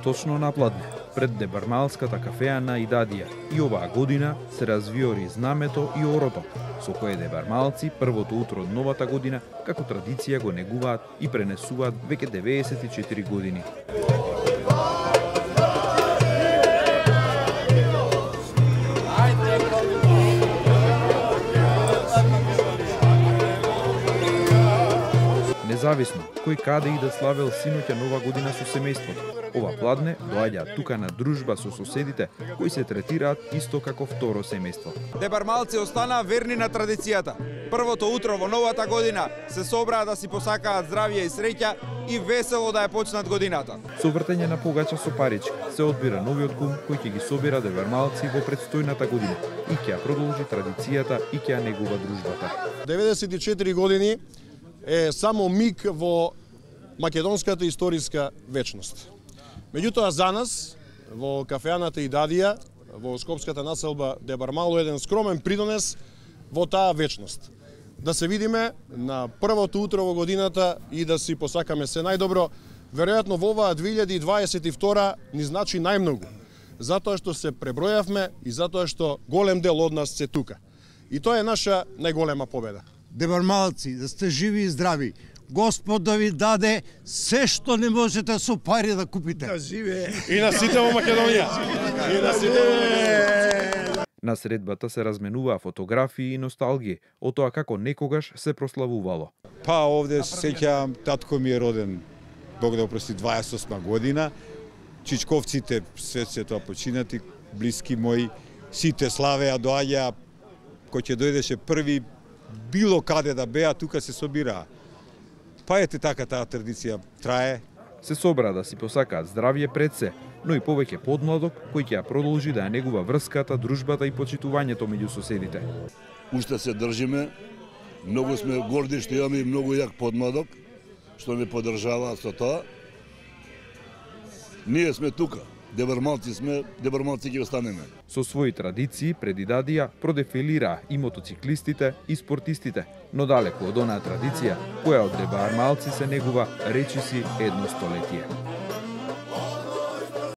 точно на Пладне, пред Дебармалската кафеа на Идадија. И оваа година се развиори знамето и орото, со кое дебармалци првото утро од новата година како традиција го негуваат и пренесуваат веќе 94 години. Независно кој каде и да славел синоќа нова година со семејството, ова Пладне доаѓа тука на дружба со соседите кои се третираат исто како второ семејство. Дебармалци остана верни на традицијата. Првото утро во новата година се собраа да си посакаат здравје и среќа и весело да ја почнат годината. Со вртење на погача со парички се одбира новиот кум кој ќе ги собира дебармалци во предстојната година и ќе ја продолжи традицијата и ќе ја негува дружбата. 94 години е само миг во македонската историска вечност. Меѓутоа за нас, во кафеаната Идадија, во скопската населба Дебармало, еден скромен придонес во таа вечност. Да се видиме на првото утро во годината и да си посакаме се најдобро. Веројатно во оваа 2022 ни значи најмногу, затоа што се пребројавме и затоа што голем дел од нас се тука. И тоа е наша најголема победа. Дебармалци, да сте живи и здрави. Господ да ви даде се што не можете со пари да купите. Да живее. И на сите во Македонија. И на сите. На средбата се разменуваа фотографии и носталгии од тоа како некогаш се прославувало. Па овде се сеќавам, татко ми е роден, Бог да опрости, 28 година. Чичковците се тоа починати, блиски мои, сите славеа, доаѓаа, кој ќе дојдеше први, било каде да беа, тука се собираа. Па ете така таа традиција трае. Се собра да си посакаат здравје пред се, но и повеќе подмладок кој ќе ја продолжи да ја негува врската, дружбата и почитувањето меѓу соседите. Уште се држиме, многу сме горди што имаме и многу јак подмладок, што не поддржаваат со тоа. Ние сме тука. Дебармалци сме, дебармалци ќе останеме. Со своји традиции пред Идадија продефилираа и мотоциклистите и спортистите, но далеку од онаа традиција која од дебармалци се негува речиси едно столетие.